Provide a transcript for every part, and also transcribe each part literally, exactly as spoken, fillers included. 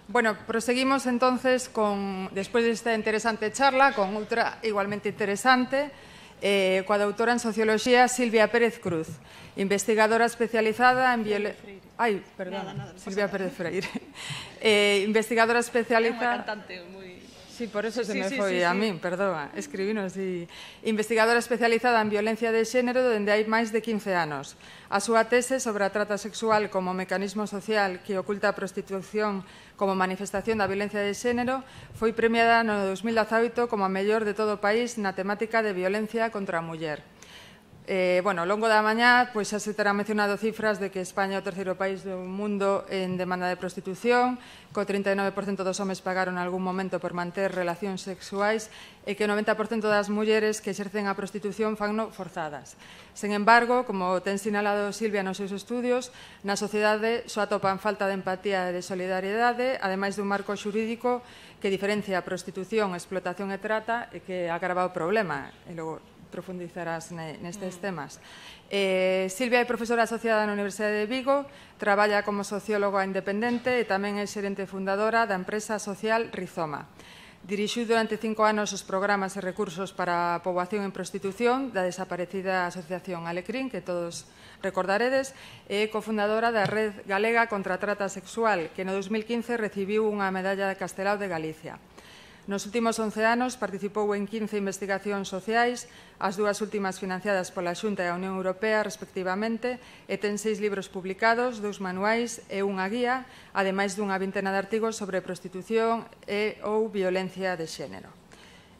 Bueno, proseguimos entonces con, despois desta interesante charla, con outra igualmente interesante, eh, coa doutora en Socioloxía Silvia Pérez Cruz, investigadora especializada en violencia... Ai, perdón, nada, nada, Silvia Pérez Freire. eh, investigadora especializada... É unha cantante moi... Sí, por eso sí, se me sí, foi sí, a sí. min, perdoa, escribino así. Investigadora especializada en violencia de xénero dende hai máis de quince anos. A súa tese sobre a trata sexual como mecanismo social que oculta a prostitución como manifestación da violencia de xénero foi premiada no dos mil dezaoito como a mellor de todo o país na temática de violencia contra a muller. Eh, bueno, ao longo da mañá pois xa se terá mencionado cifras de que España é o terceiro país do mundo en demanda de prostitución, que o trinta e nove por cento dos homes pagaron en algún momento por manter relacións sexuais e que o noventa por cento das mulleres que exercen a prostitución fanno forzadas. Sen embargo, como ten sinalado Silvia nos seus estudios, na sociedade só atopan falta de empatía e de solidariedade, ademais dun marco xurídico que diferencia a prostitución, explotación e trata e que agrava o problema. E logo profundizarás nestes temas. Eh, Silvia é profesora asociada na Universidade de Vigo, traballa como socióloga independente e tamén é xerente fundadora da empresa social Rizoma. Dirixiu durante cinco anos os programas e recursos para a poboación en prostitución da desaparecida asociación Alecrín, que todos recordaredes, e é cofundadora da Red Galega contra a Trata Sexual, que no dos mil quince recibiu unha medalla de Castelao de Galicia. Nos últimos once anos participou en quince investigacións sociais, as dúas últimas financiadas pola Xunta e a Unión Europea, respectivamente, e ten seis libros publicados, dous manuais e unha guía, ademais dunha vintena de artigos sobre prostitución e ou violencia de xénero.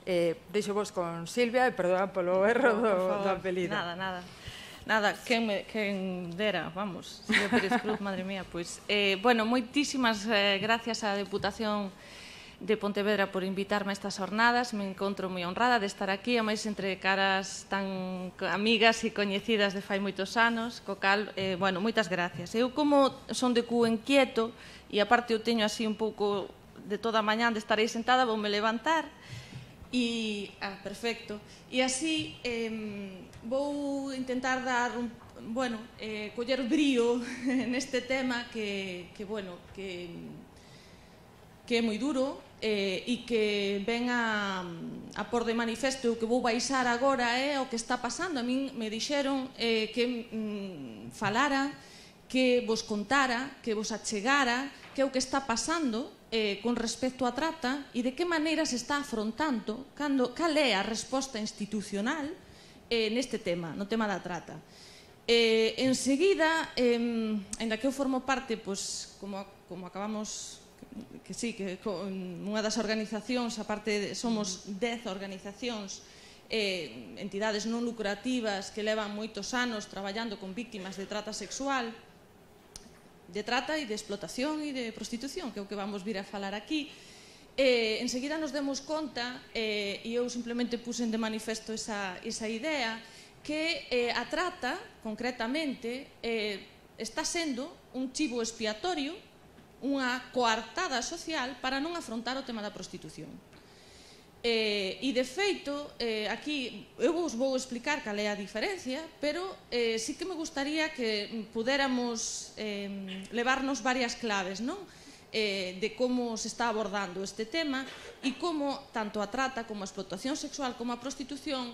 Eh, deixo vos con Silvia, e perdoa polo erro do, do apelido. Nada, nada. Nada, quen, me, quen dera, vamos, Silvia Pérez Cruz, madre mía, pois. Eh, bueno, moitísimas eh, gracias á Deputación de Pontevedra por invitarme a estas jornadas. Me encontro moi honrada de estar aquí, a máis entre caras tan amigas e coñecidas de fai moitos anos, co cal, eh, bueno, moitas gracias. Eu, como son de cu inquieto, e aparte eu teño así un pouco de toda a mañán de estar aí sentada, voume levantar, e, ah, perfecto, e así eh, vou intentar dar un, bueno, eh, coller brío neste tema que, que bueno, que... que é moi duro eh, e que ven a, a por de manifesto o que vou baixar agora é o que está pasando. A min me dixeron eh, que mm, falara, que vos contara, que vos achegara que é o que está pasando eh, con respecto á trata e de que maneira se está afrontando, cando, cal é a resposta institucional eh, neste tema, no tema da trata. Eh, enseguida, eh, ainda que eu formo parte, pois, como, como acabamos... que sí, que con unha das organizacións, aparte somos dez organizacións, eh, entidades non lucrativas que levan moitos anos traballando con víctimas de trata sexual, de trata e de explotación e de prostitución, que é o que vamos vir a falar aquí. Eh, enseguida nos demos conta, eh, e eu simplemente puxen de manifesto esa, esa idea, que eh, a trata, concretamente, eh, está sendo un chivo expiatorio, unha coartada social para non afrontar o tema da prostitución. Eh, e, de feito, eh, aquí eu vos vou explicar cal é a diferencia, pero eh, sí que me gustaría que pudéramos eh, levarnos varias claves, non? Eh, de como se está abordando este tema e como tanto a trata como a explotación sexual como a prostitución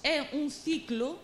é un ciclo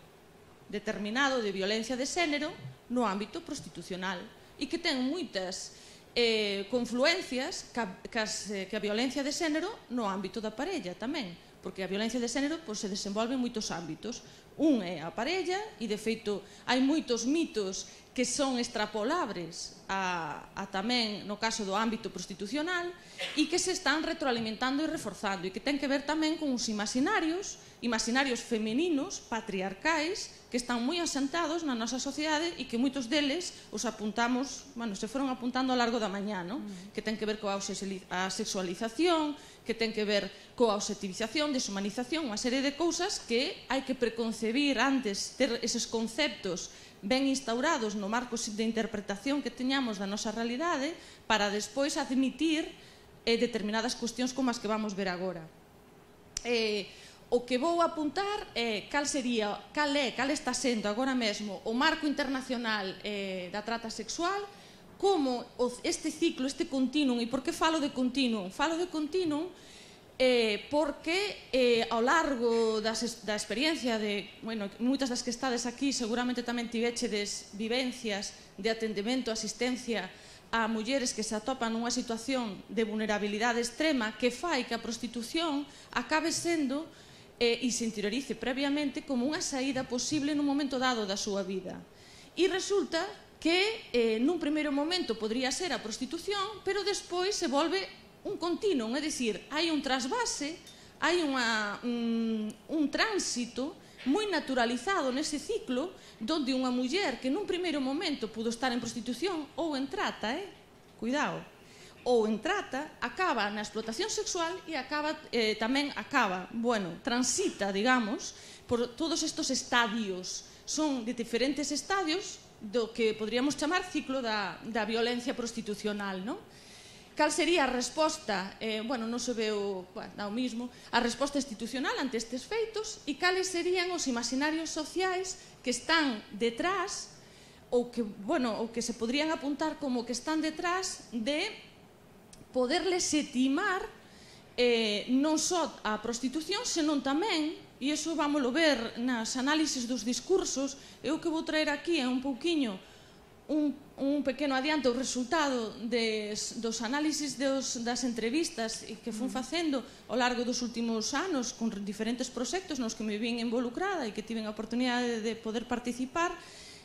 determinado de violencia de xénero no ámbito prostitucional e que ten moitas Eh, confluencias que a, que, as, que a violencia de xénero no ámbito da parella tamén, porque a violencia de xénero pois, se desenvolve en moitos ámbitos. Un é a parella e, de feito, hai moitos mitos que son extrapolables a, a tamén no caso do ámbito prostitucional e que se están retroalimentando e reforzando e que ten que ver tamén con os imaginarios, imaginarios femeninos, patriarcais, que están moi asentados na nosa sociedade e que moitos deles os apuntamos, bueno, se foron apuntando ao largo da mañá, non? Mm. Que ten que ver coa sexualización, que ten que ver coa objetivización, deshumanización, unha serie de cousas que hai que preconcebir antes, ter eses conceptos ben instaurados no marco de interpretación que teñamos da nosa realidade para despois admitir eh, determinadas cuestións como as que vamos ver agora. Eh, O que vou apuntar é cal sería, cal é, cal está sendo agora mesmo o marco internacional eh, da trata sexual, como este ciclo, este continuum, e por que falo de continuum? Falo de continuum eh, porque eh, ao largo das, da experiencia de, bueno, moitas das que estades aquí seguramente tamén tivechedes vivencias de atendemento, asistencia a mulleres que se atopan nunha situación de vulnerabilidade extrema que fai que a prostitución acabe sendo eh, e se interiorice previamente como unha saída posible nun momento dado da súa vida. E resulta que eh, nun primeiro momento podría ser a prostitución, pero despois se volve un continuum, é dicir, hai un trasvase, hai unha, un, un tránsito moi naturalizado nese ciclo donde unha muller que nun primeiro momento pudo estar en prostitución ou en trata, eh? Cuidado, ou en trata, acaba na explotación sexual e acaba, eh, tamén acaba, bueno, transita, digamos, por todos estes estadios. Son de diferentes estadios do que podríamos chamar ciclo da, da violencia prostitucional, non? Cal sería a resposta, eh, bueno, non se veo, bueno, dá o mismo, a resposta institucional ante estes feitos e cales serían os imaginarios sociais que están detrás ou que, bueno, ou que se podrían apuntar como que están detrás de poder legitimar eh, non só a prostitución, senón tamén, e iso vámoslo ver nas análisis dos discursos, eu que vou traer aquí é un pouquiño un, un pequeno adiante o resultado des, dos análisis dos, das entrevistas que fun facendo ao largo dos últimos anos con diferentes proxectos nos que me vin involucrada e que tiven a oportunidade de poder participar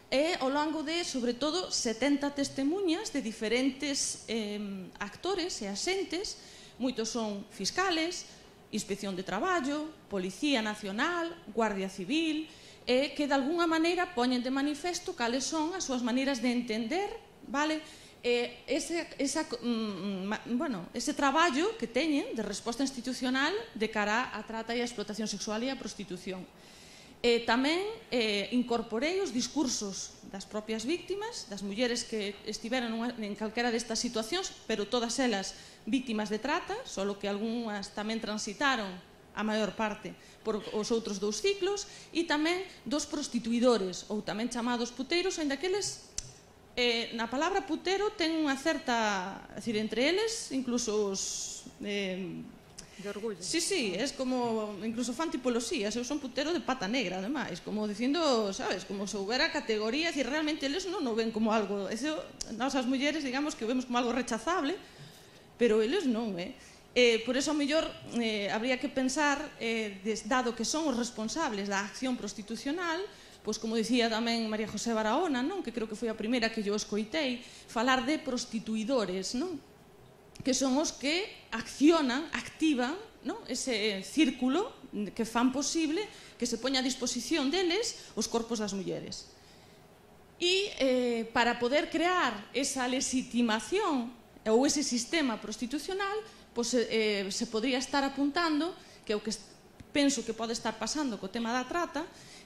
e ao longo de, sobre todo, setenta testemunhas de diferentes eh, actores e axentes, moitos son fiscales, Inspección de Traballo, Policía Nacional, Guardia Civil, e que de alguna maneira poñen de manifesto cales son as súas maneiras de entender, vale, eh, ese, esa, mm, bueno, ese traballo que teñen de resposta institucional de cara á trata e a explotación sexual e a prostitución. Eh, tamén eh, incorporei os discursos das propias víctimas, das mulleres que estiveran en calquera destas situacións, pero todas elas víctimas de trata, solo que algunhas tamén transitaron a maior parte por os outros dous ciclos, e tamén dos prostituidores, ou tamén chamados puteiros, ainda que eles, eh, na palabra putero, ten unha certa, é dicir, entre eles, incluso os... Eh, de orgullo. Sí, sí, es como, incluso fan tipologías, eu son putero de pata negra, ademais, como dicindo, sabes, como se houbera categorías e realmente eles non o ven como algo, eso, nós as mulleres, digamos, que o vemos como algo rechazable, pero eles non, eh? Eh, por eso, ao mellor, eh, habría que pensar, eh, des, dado que son os responsables da acción prostitucional, pois, como dicía tamén María José Barahona, non? Que creo que foi a primeira que yo escoitei, falar de prostituidores, non? Que son os que accionan, activan, non? Ese círculo que fan posible que se poña a disposición deles os corpos das mulleres. E eh, para poder crear esa legitimación ou ese sistema prostitucional, pois, eh, se podría estar apuntando, que é o que penso que pode estar pasando co tema da trata,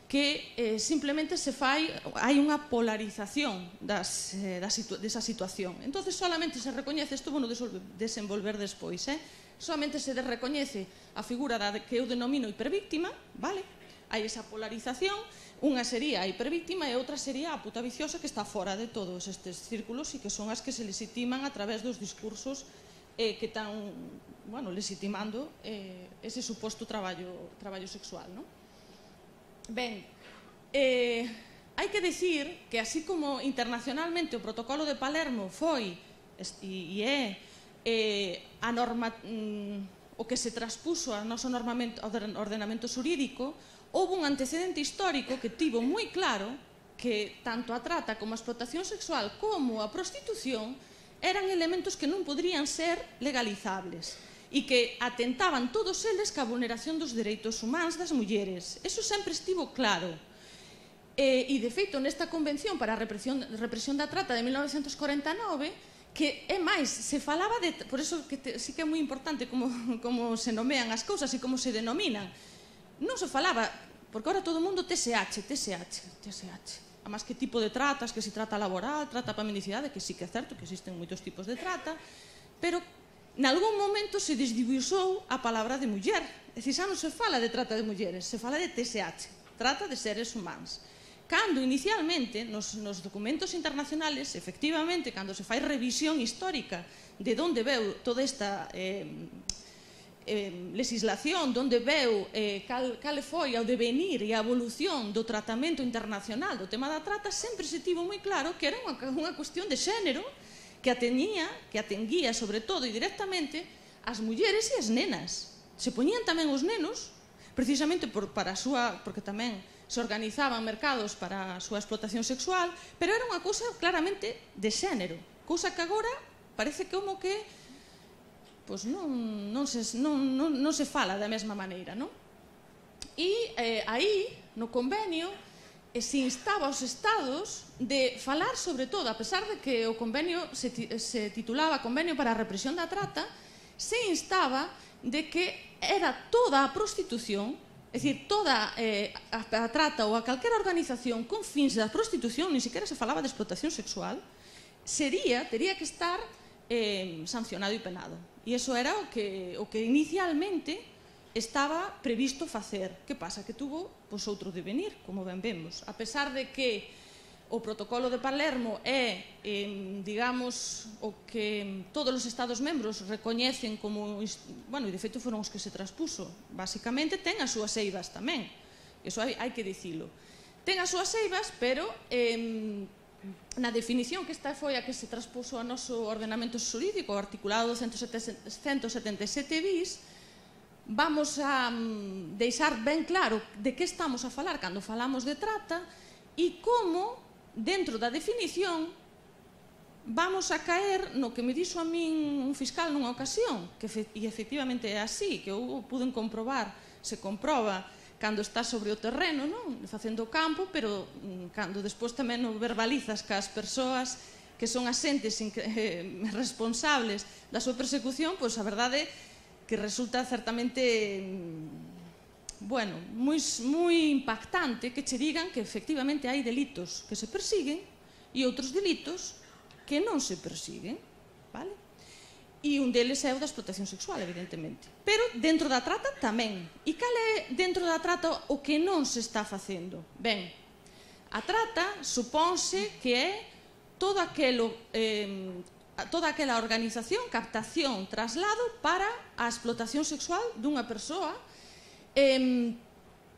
que eh, simplemente se fai, hai unha polarización das, eh, das situ, desa situación. Entonces solamente se recoñece, isto vou desenvolver despois, eh? solamente se recoñece a figura da que eu denomino hipervíctima, vale? Hai esa polarización, unha sería a hipervíctima e outra sería a puta viciosa que está fora de todos estes círculos e que son as que se legitiman a través dos discursos eh, que están, bueno, legitimando eh, ese suposto traballo, traballo sexual, non? Ben, eh, hai que dicir que así como internacionalmente o protocolo de Palermo foi e é eh, a norma, mm, o que se traspuso ao noso ordenamento xurídico, houve un antecedente histórico que tivo moi claro que tanto a trata como a explotación sexual como a prostitución eran elementos que non podrían ser legalizables e que atentaban todos eles ca vulneración dos dereitos humanos das mulleres. Eso sempre estivo claro. E, e de feito, nesta Convención para a Represión, Represión da Trata de mil novecentos corenta e nove, que é máis, se falaba de... Por eso que te, sí que é moi importante como, como se nomean as cousas e como se denominan. Non se falaba, porque ahora todo o mundo T S H, T S H, T S H. Además, que tipo de tratas, que si trata laboral, trata para mendicidade, que sí que é certo que existen moitos tipos de trata, pero... Nalgún momento se desdibusou a palabra de muller. É dicir, xa non se fala de trata de mulleres, se fala de T S H, trata de seres humanos. cando inicialmente nos, nos documentos internacionales, efectivamente, cando se fai revisión histórica de onde veu toda esta eh, eh, legislación, de onde veu eh, cal, cal foi o devenir e a evolución do tratamento internacional do tema da trata, sempre se tivo moi claro que era unha, unha cuestión de xénero que atenía, que atenguía sobre todo e directamente as mulleres e as nenas. Se poñían tamén os nenos, precisamente por, para a súa, porque tamén se organizaban mercados para a súa explotación sexual, pero era unha cousa claramente de xénero, cousa que agora parece como que pois non, non, se, non, non, non se fala da mesma maneira, non? E eh, aí, no convenio, eh, se instaba aos estados de falar sobre todo, a pesar de que o convenio se, se titulaba Convenio para a Represión da Trata, se instaba de que era toda a prostitución, é dicir, toda eh, a, a trata ou a calquera organización con fins da prostitución, ni siquiera se falaba de explotación sexual, sería, tería que estar eh, sancionado e penado. E iso era o que, o que inicialmente estaba previsto facer. Que pasa? Que tuvo pois, outro devenir, como ben vemos. A pesar de que o protocolo de Palermo é, eh, digamos, o que todos os Estados membros recoñecen como, bueno, e de feito foron os que se traspuso, basicamente ten as súas eivas tamén, iso hai, hai que dicilo. Ten as súas eivas, pero eh, na definición que esta foi a que se traspuso ao noso ordenamento xurídico, o articulado ciento setenta e sete bis, vamos a um, deixar ben claro de que estamos a falar cando falamos de trata e como dentro da definición vamos a caer no que me dixo a min un fiscal nunha ocasión, que e efectivamente é así, que eu puden comprobar, se comproba cando está sobre o terreno, non? Facendo o campo, pero cando despois tamén o verbalizas cas persoas que son asentes eh, responsables da súa persecución, pois a verdade que resulta certamente bueno, moi, moi impactante que che digan que efectivamente hai delitos que se persiguen e outros delitos que non se persiguen, vale? E un deles é o da explotación sexual, evidentemente. Pero dentro da trata tamén. E cal é dentro da trata o que non se está facendo? Ben, a trata supónse que é todo aquelo, eh, toda aquela organización, captación, traslado para a explotación sexual dunha persoa. E,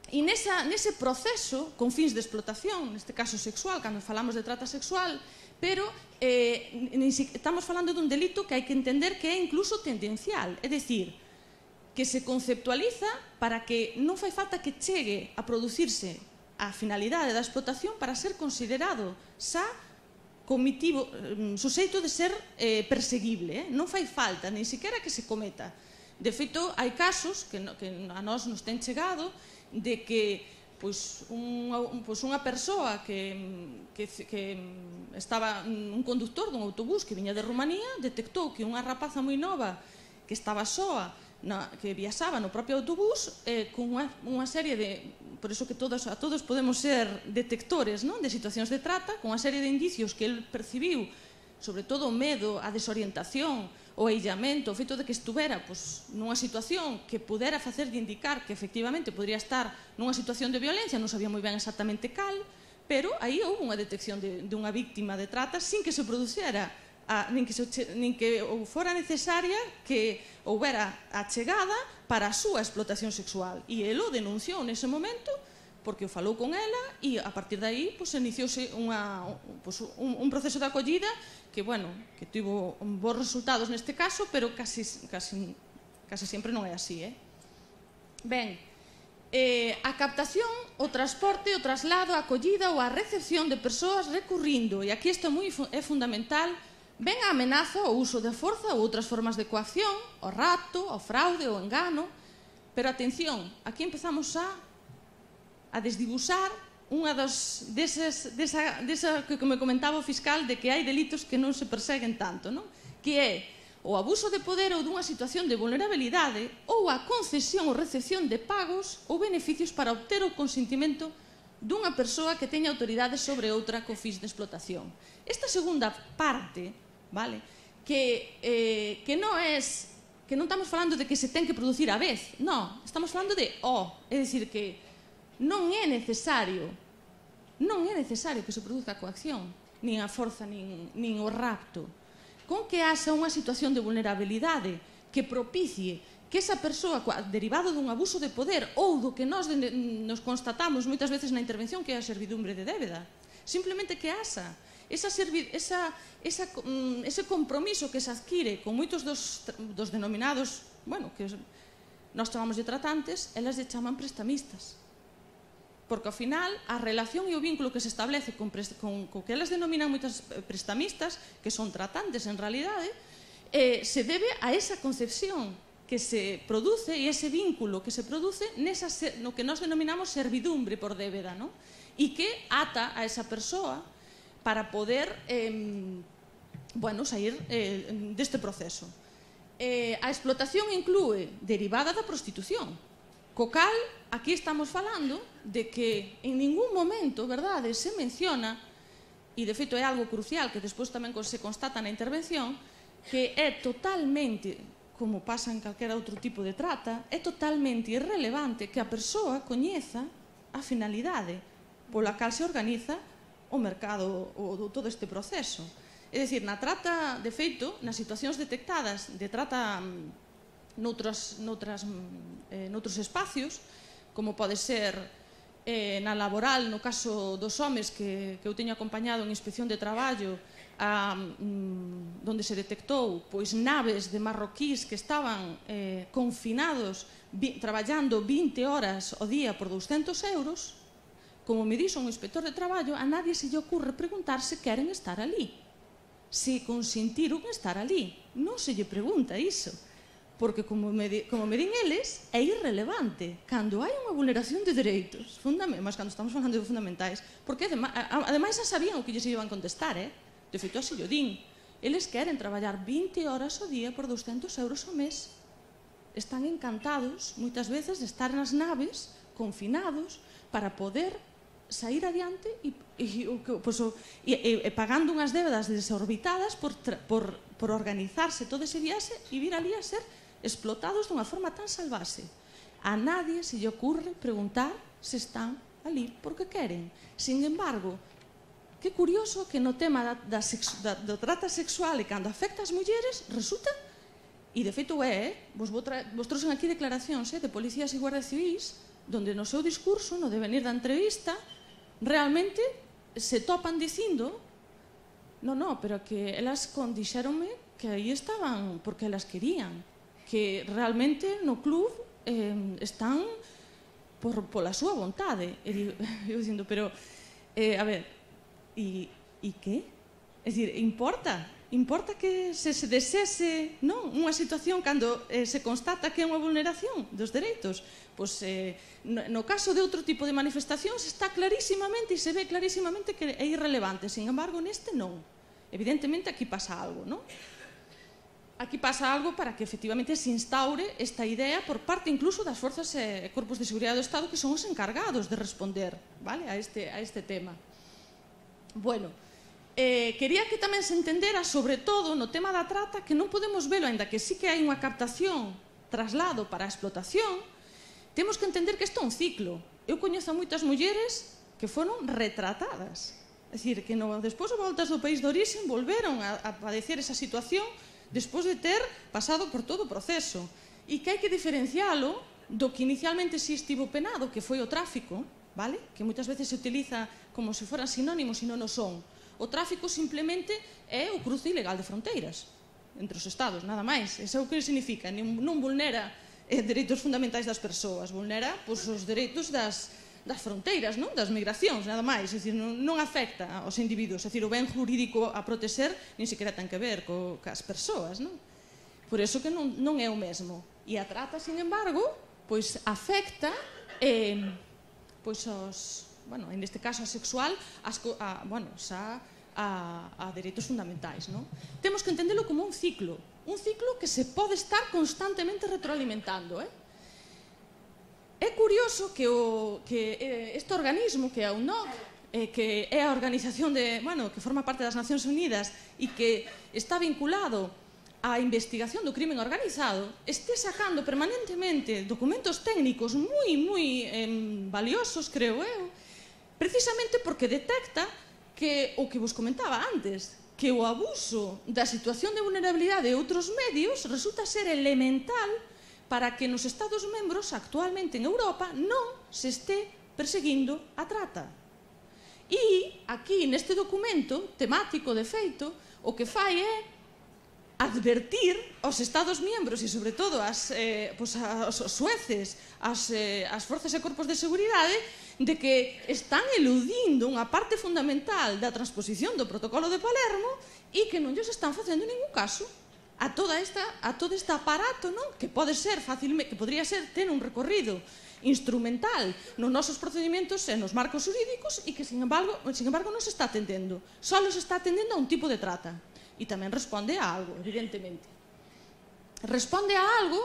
e nesa, nese proceso, con fins de explotación, neste caso sexual, cando falamos de trata sexual, pero eh, estamos falando dun delito que hai que entender que é incluso tendencial, é dicir, que se conceptualiza para que non fai falta que chegue a producirse a finalidade da explotación para ser considerado xa comitivo, suxeito de ser eh, perseguible, eh? Non fai falta, nin siquiera que se cometa. De feito, hai casos que, no, que a nós nos ten chegado de que pois, unha, pois, unha persoa que, que, que estaba un conductor dun autobús que viña de Rumanía detectou que unha rapaza moi nova que estaba soa, na, que viaxaba no propio autobús eh, con unha, unha serie de, por iso que todos, a todos podemos ser detectores, non? De situacións de trata, con unha serie de indicios que el percibiu, sobre todo o medo, a desorientación, o aillamento, o feito de que estuvera pois, nunha situación que pudera facer de indicar que efectivamente podría estar nunha situación de violencia, non sabía moi ben exactamente cal, pero aí houve unha detección de, de unha víctima de trata sin que se producera, a, nin, que se, nin que fora necesaria que houbera a chegada para a súa explotación sexual. E el o denunciou nese momento porque o falou con ela e a partir de aí pois, iniciouse unha, pois, un, un proceso de acollida que, bueno, que tivo bons resultados neste caso, pero casi, casi, casi sempre non é así, eh? Ben, eh, a captación, o transporte, o traslado, a acollida ou a recepción de persoas recurrindo, e aquí isto é, moi, é fundamental, ben a amenaza, o uso de forza ou outras formas de coacción, o rapto, o fraude, o engano, pero atención, aquí empezamos a, a desdibuxar unha das, deses, desa, desa que me comentaba o fiscal de que hai delitos que non se perseguen tanto, non? Que é o abuso de poder ou dunha situación de vulnerabilidade ou a concesión ou recepción de pagos ou beneficios para obter o consentimento dunha persoa que teña autoridade sobre outra co fins de explotación. Esta segunda parte, vale, que, eh, que non é, que non estamos falando de que se ten que producir a vez, non, estamos falando de o, é dicir que non é necesario non é necesario que se produza a coacción, nin a forza, nin, nin o rapto. Con que haxa unha situación de vulnerabilidade que propicie que esa persoa, derivado dun abuso de poder ou do que nós nos constatamos moitas veces na intervención, que é a servidumbre de débeda, simplemente que haxa esa, esa, esa, ese compromiso que se adquire con moitos dos, dos denominados, bueno, que nós chamamos de tratantes, elas lle chaman prestamistas. Porque ao final a relación e o vínculo que se establece con, con, con que elas denominan moitas prestamistas, que son tratantes en realidade, eh, se debe a esa concepción que se produce e ese vínculo que se produce nesa, no que nós denominamos servidumbre por débeda, ¿no? E que ata a esa persoa para poder eh, bueno, sair eh, deste proceso. Eh, a explotación inclúe derivada da prostitución, co cal aquí estamos falando de que en ningún momento, verdade, se menciona, e de feito é algo crucial que despois tamén se constata na intervención, que é totalmente, como pasa en calquera outro tipo de trata, é totalmente irrelevante que a persoa coñeza a finalidade pola cal se organiza o mercado, o, todo este proceso. É dicir, na trata, de feito, nas situacións detectadas de trata noutros, noutras, eh, noutros espacios, como pode ser eh, na laboral, no caso dos homes que, que eu teño acompañado en inspección de traballo, a, mm, donde se detectou pois naves de marroquís que estaban eh, confinados vi, traballando vinte horas ao día por douscentos euros, como me dixo un inspector de traballo, a nadie se lle ocurre preguntar se queren estar ali, se consentiron estar ali. Non se lle pregunta iso, porque como me, di, como me din eles, é irrelevante cando hai unha vulneración de dereitos, mas cando estamos falando de fundamentais, porque ademais xa sabían o que lles iban contestar, eh? De feito, así o din. Eles queren traballar vinte horas ao día por douscentos euros ao mes. Están encantados, moitas veces, de estar nas naves, confinados, para poder sair adiante e, e, pues, e, e pagando unhas débedas desorbitadas por, por, por organizarse todo ese viaxe e vir ali a ser explotados dunha forma tan salvaxe. A nadie se lle ocurre preguntar se están ali porque queren. Sin embargo, que curioso que no tema da, da, da, da trata sexual e cando afecta as mulleres resulta, e de feito é, vos, vos trouxen aquí declaracións eh, de policías e guardias civís donde no seu discurso, no devenir da entrevista, realmente se topan dicindo no, no, pero que elas condixéronme que aí estaban porque elas querían, que realmente no club eh, están por, pola súa vontade. E digo, eu dicindo, pero eh, a ver, e, e que? É dicir, importa? Importa que se, se desese non, unha situación cando eh, se constata que é unha vulneración dos dereitos? Pois, eh, no, no caso de outro tipo de manifestacións está clarísimamente e se ve clarísimamente que é irrelevante. Sin embargo, neste non. Evidentemente aquí pasa algo, non? Aquí pasa algo para que efectivamente se instaure esta idea por parte incluso das forzas e corpos de seguridade do Estado que son os encargados de responder, vale, a este, a este tema. Bueno, Eh, quería que tamén se entendera, sobre todo no tema da trata, que non podemos velo, aínda que sí que hai unha captación, traslado para a explotación, temos que entender que isto é un ciclo. Eu coñezo a moitas mulleres que foron retratadas, é dicir, que no, despois de voltas do país de orixen volveron a, a padecer esa situación despois de ter pasado por todo o proceso, e que hai que diferencialo do que inicialmente si estivo penado, que foi o tráfico, vale? Que moitas veces se utiliza como se foran sinónimos e non o son. O tráfico simplemente é o cruce ilegal de fronteiras entre os estados, nada máis. Eso é o que significa. Non vulnera eh, dereitos fundamentais das persoas, vulnera pois, os dereitos das, das fronteiras, non? Das migracións, nada máis. É dicir, non, non afecta aos individuos. É dicir, o ben jurídico a proteger nin sequera ten que ver co, cas persoas, non? Por eso que non, non é o mesmo. E a trata, sin embargo, pois afecta eh, pois os... bueno, en este caso a sexual, as, a, bueno, xa a, a dereitos fundamentais, non? Temos que entendelo como un ciclo, un ciclo que se pode estar constantemente retroalimentando, eh? É curioso que, o, que eh, este organismo, que é a U N O C, eh, que é a organización de, bueno, que forma parte das Nacións Unidas e que está vinculado á investigación do crimen organizado, este sacando permanentemente documentos técnicos moi, moi eh, valiosos, creo eu, precisamente porque detecta que o que vos comentaba antes, que o abuso da situación de vulnerabilidade de outros medios resulta ser elemental para que nos Estados membros actualmente en Europa non se este perseguindo a trata. E aquí, neste documento temático de feito, o que fai é advertir aos Estados membros e, sobre todo, as, eh, pues, aos sueces, as, eh, as forzas e corpos de seguridade, de que están eludindo unha parte fundamental da transposición do protocolo de Palermo e que non lles están facendo ningún caso a toda esta a todo este aparato, non? Que pode ser facilmente, que podría ser ter un recorrido instrumental nos nosos procedimentos e nos marcos jurídicos e que, sin embargo, sin embargo non se está atendendo. Só se está atendendo a un tipo de trata. E tamén responde a algo, evidentemente. Responde a algo,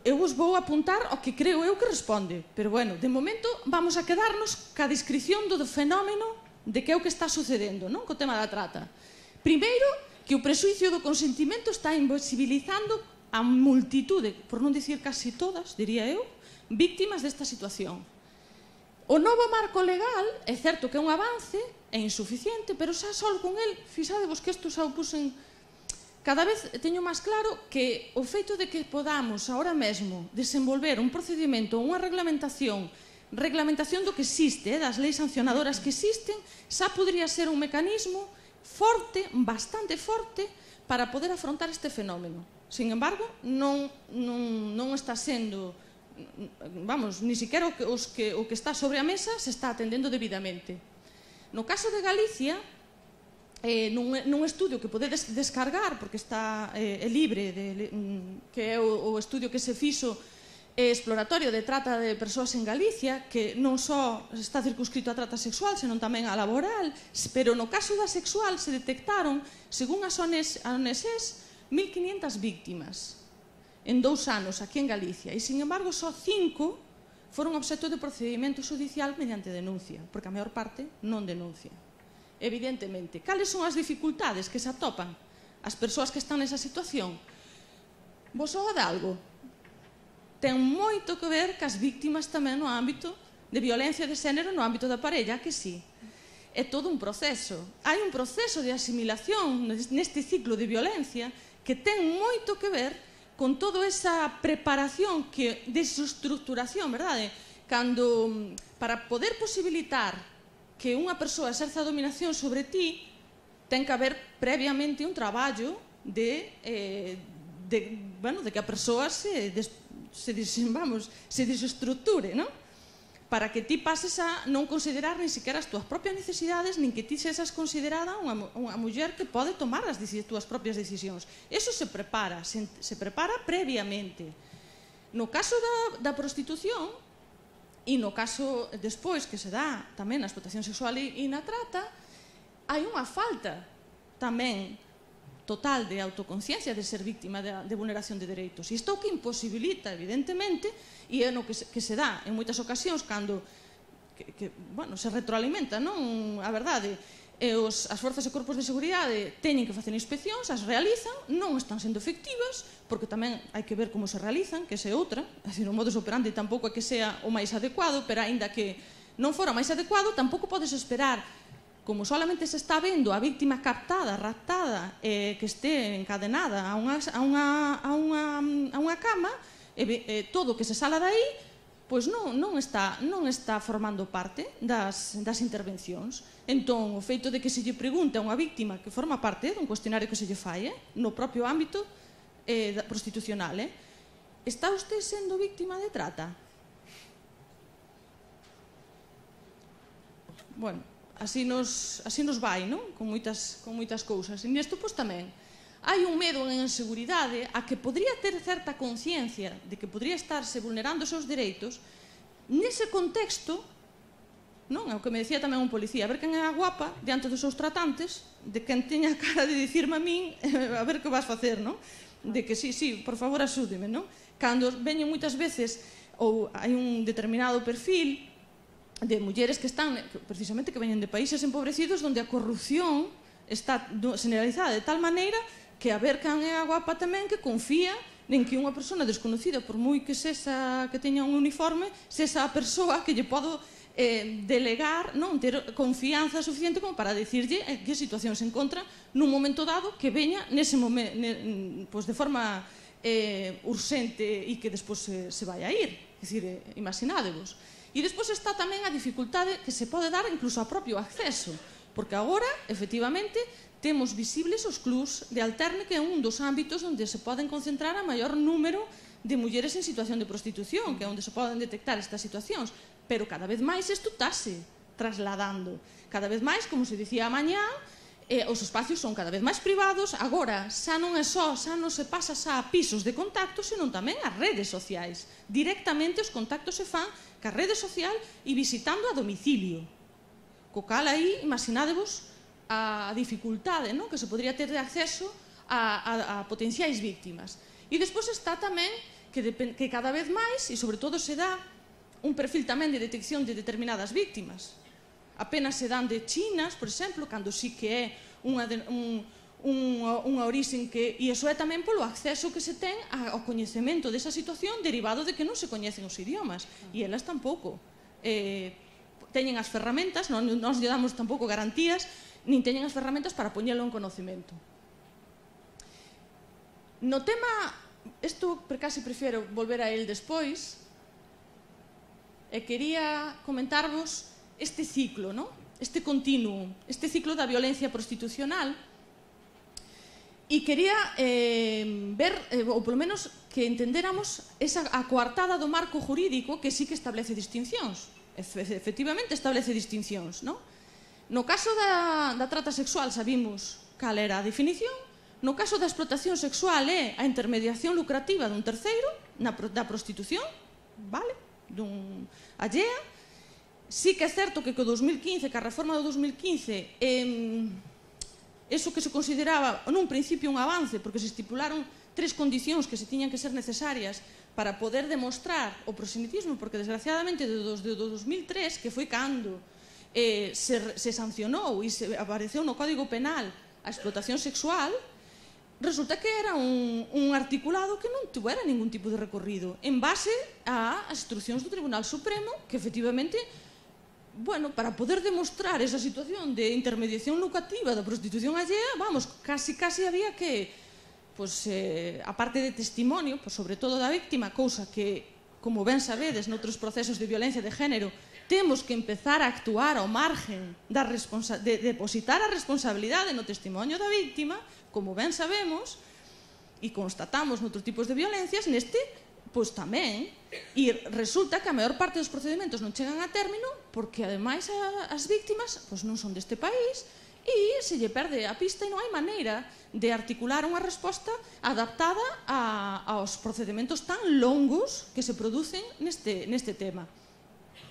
eu vos vou apuntar ao que creo eu que responde, pero, bueno, de momento vamos a quedarnos ca descripción do fenómeno de que é o que está sucedendo, non? Co tema da trata. Primeiro, que o presuicio do consentimento está invisibilizando a multitude, por non dicir casi todas, diría eu, víctimas desta situación. O novo marco legal é certo que é un avance, é insuficiente, pero xa só con el, fixadevos que isto xa o pusen, cada vez teño máis claro que o feito de que podamos ahora mesmo desenvolver un procedimento, unha reglamentación, reglamentación do que existe, das leis sancionadoras que existen, xa podría ser un mecanismo forte, bastante forte, para poder afrontar este fenómeno. Sin embargo, non, non, non está sendo, vamos, ni siquiera o que, os que, o que está sobre a mesa se está atendendo debidamente. No caso de Galicia, eh, nun, nun estudio que podedes descargar, porque está eh, libre, de, que é o, o estudio que se fixo eh, exploratorio de trata de persoas en Galicia, que non só está circunscrito a trata sexual, senón tamén a laboral, pero no caso da sexual se detectaron, según as O N S S, mil quinientas víctimas en dous anos aquí en Galicia, e, sin embargo, só cinco foron obxecto de procedimento judicial mediante denuncia, porque a maior parte non denuncia. Evidentemente, cales son as dificultades que se atopan as persoas que están nesa situación? Vos soa de algo? Ten moito que ver cas víctimas tamén no ámbito de violencia de xénero no ámbito da parella, que sí. É todo un proceso. Hai un proceso de asimilación neste ciclo de violencia que ten moito que ver con toda esa preparación, que, desestructuración, verdade? Cando, para poder posibilitar que unha persoa exerza a dominación sobre ti, ten que haber previamente un traballo de, eh, de, bueno, de que a persoa se, des, se, des, vamos, se desestructure, non? Para que ti pases a non considerar ni siquiera as túas propias necesidades, nin que ti sesas considerada unha, unha muller que pode tomar as túas propias decisións. Eso se prepara, se, se prepara previamente. No caso da, da prostitución, e no caso despois que se dá tamén na explotación sexual e, e na trata, hai unha falta tamén total de autoconciencia de ser víctima de, de vulneración de dereitos. E isto que imposibilita, evidentemente, e é no que se, que se dá en moitas ocasións cando que, que, bueno, se retroalimenta, non? A verdade, e os, as forzas e corpos de seguridade teñen que facer inspeccións, as realizan, non están sendo efectivas, porque tamén hai que ver como se realizan, que se outra, así, o modus operandi tampouco é que sea o máis adecuado, pero aínda que non fora o máis adecuado, tampouco podes esperar, como solamente se está vendo a víctima captada, raptada, eh, que este encadenada a unha, a unha, a unha, a unha cama, e, eh, todo o que se sala dai, pois non, non, está, non está formando parte das, das intervencións. Entón, o feito de que se lle pregunte a unha víctima que forma parte dun cuestionario que se lle fai, eh, no propio ámbito eh, prostitucional, eh, está usted sendo víctima de trata? Bueno, así nos, así nos vai, non? Con moitas, con moitas cousas. E nesto, pois, tamén hai un medo en inseguridade a que podría ter certa conciencia de que podría estarse vulnerando os seus dereitos nese contexto, non? É o que me decía tamén un policía, a ver quen é a guapa diante dos seus tratantes, de quen teña a cara de dicirme a min a ver que vas facer, non? De que sí, sí, por favor, axúdeme, non? Cando veñen moitas veces ou hai un determinado perfil de mulleres que están, precisamente, que veñen de países empobrecidos onde a corrupción está generalizada de tal maneira que a ver quen é a guapa tamén que confía en que unha persona desconocida, por moi que sexa, que teña un uniforme, sexa a persoa que lle podo eh, delegar, non ter confianza suficiente como para dicirlle en que situación se encontra nun momento dado que veña nese momento, ne, pues de forma eh, urxente e que despois se, se vai a ir. É dicir, eh, imaginádevos. E despois está tamén a dificultade que se pode dar incluso ao propio acceso, porque agora, efectivamente, temos visibles os clubs de alterne, que é un dos ámbitos onde se poden concentrar a maior número de mulleres en situación de prostitución, que é onde se poden detectar estas situacións, pero cada vez máis isto estase trasladando. Cada vez máis, como se dicía mañá, eh, os espacios son cada vez máis privados. Agora, xa non é só, xa non se pasa xa a pisos de contacto, senón tamén a redes sociais. Directamente os contactos se fan ca rede social e visitando a domicilio. Co cal aí, imaginádevos a dificultade, non, que se podría ter de acceso a, a, a potenciais víctimas. E despois está tamén que, de, que cada vez máis, e sobre todo se dá un perfil tamén de detección de determinadas víctimas. Apenas se dan de chinas, por exemplo, cando sí que é unha, un, unha, unha orixen que... E iso é tamén polo acceso que se ten ao coñecemento desa situación derivado de que non se coñecen os idiomas. E elas tampouco eh, teñen as ferramentas, non nos lle damos tampouco garantías, nin teñen as ferramentas para poñelo en conocemento. No tema, isto casi prefiero volver a él despois, e quería comentarvos este ciclo, ¿no? Este continuo, este ciclo da violencia prostitucional, e quería eh, ver, eh, ou polo menos que entendéramos esa a coartada do marco jurídico que sí que establece distincións. Efectivamente establece distincións, ¿no? No caso da, da trata sexual sabimos cal era a definición. No caso da explotación sexual é a intermediación lucrativa dun terceiro na, da prostitución, vale? Dun allea. Sí que é certo que co dos mil quince, que a reforma do dos mil quince, eh, eso que se consideraba nun principio un avance, porque se estipularon tres condicións que se tiñan que ser necesarias para poder demostrar o proselitismo, porque desgraciadamente desde o dos mil tres, que foi cando eh, se, se sancionou e se apareceu no Código Penal a explotación sexual, resulta que era un, un articulado que non tuvera ningún tipo de recorrido en base ás instruccións do Tribunal Supremo, que efectivamente, bueno, para poder demostrar esa situación de intermediación lucrativa da prostitución allea, vamos, casi casi había que, pues, eh, a parte de testimonio, pues, sobre todo da víctima, cousa que, como ben sabedes, noutros procesos de violencia de género, temos que empezar a actuar ao margen da responsa de depositar a responsabilidade no testimonio da víctima, como ben sabemos, e constatamos noutros tipos de violencias, neste, pois tamén, e resulta que a maior parte dos procedimentos non chegan a término porque, ademais, as víctimas pois non son deste país e se lle perde a pista e non hai maneira de articular unha resposta adaptada a, aos procedimentos tan longos que se producen neste, neste tema.